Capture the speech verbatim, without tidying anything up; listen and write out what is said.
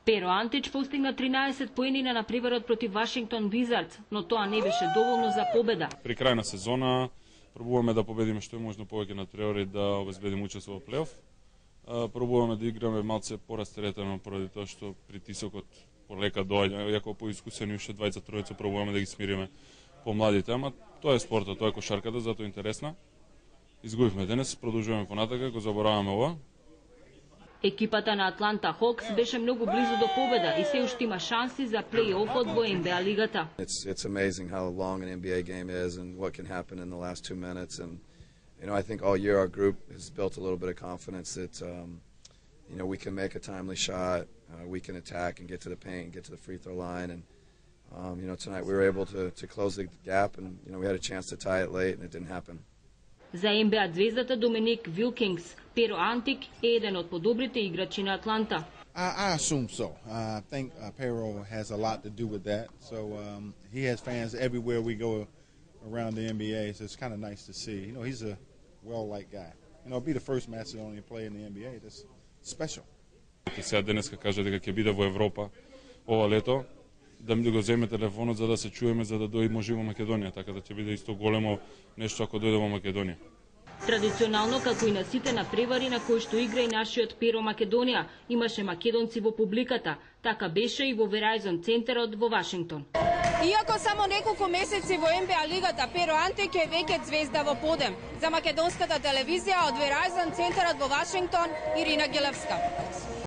Pero Антич постигна тринаесет поени на надпреварот против Вашингтон Wizards, но тоа не беше доволно за победа. При крај на сезона пробуваме да победиме што е можно повеќе надпревари да обезбедиме учество во плейоф. Пробуваме да играме малце порастеретено поради тоа што притисокот полека доаѓа, иако поискусени уште двајца тројца пробуваме да ги смириме помладите, ама тоа е спортот, тоа е кошарката, затоа е интересна. Изгубивме денес, продолжуваме понатака, го забораваме ова. Екипата на Атланта Хокс беше многу близу до победа и се уште има шанси за плей-офот во Н Б А лигата. It's it's amazing how long an N B A game is and what can happen in the last two minutes and you know I think all year our group has built a little bit of confidence that um, you know we can make a timely shot, uh, we can attack and get to the paint and get to the free throw line and um, you know tonight we were able to to close the gap and you know we had a chance to tie it late and it didn't happen. За Н Б А звездата Доминик Вилкингс, Pero Антик е еден од подобрите играчи на Атланта. I, I assume so. Uh, I think uh, Pero has a lot to do with that. So um, he has fans everywhere we go around the N B A. So it's kind of nice to see. You know, he's a well-liked guy. You know, be the first Macedonian player in the N B A. That's special. Сега денеска кажа дека ќе биде во Европа ова лето, да ми го земе телефонот за да се чуеме, за да дојде може во Македонија, така да ќе биде исто големо нешто ако дојде во Македонија. Традиционално, како и на сите надпревари на кои што игра и нашиот Pero Македонија, имаше македонци во публиката. Така беше и во Verizon центарот во Вашингтон. Иако само неколку месеци во Н Б А лигата, Pero Антик е веќе звезда во подем. За македонската телевизија од Verizon центарот во Вашингтон, Ирина Гелевска.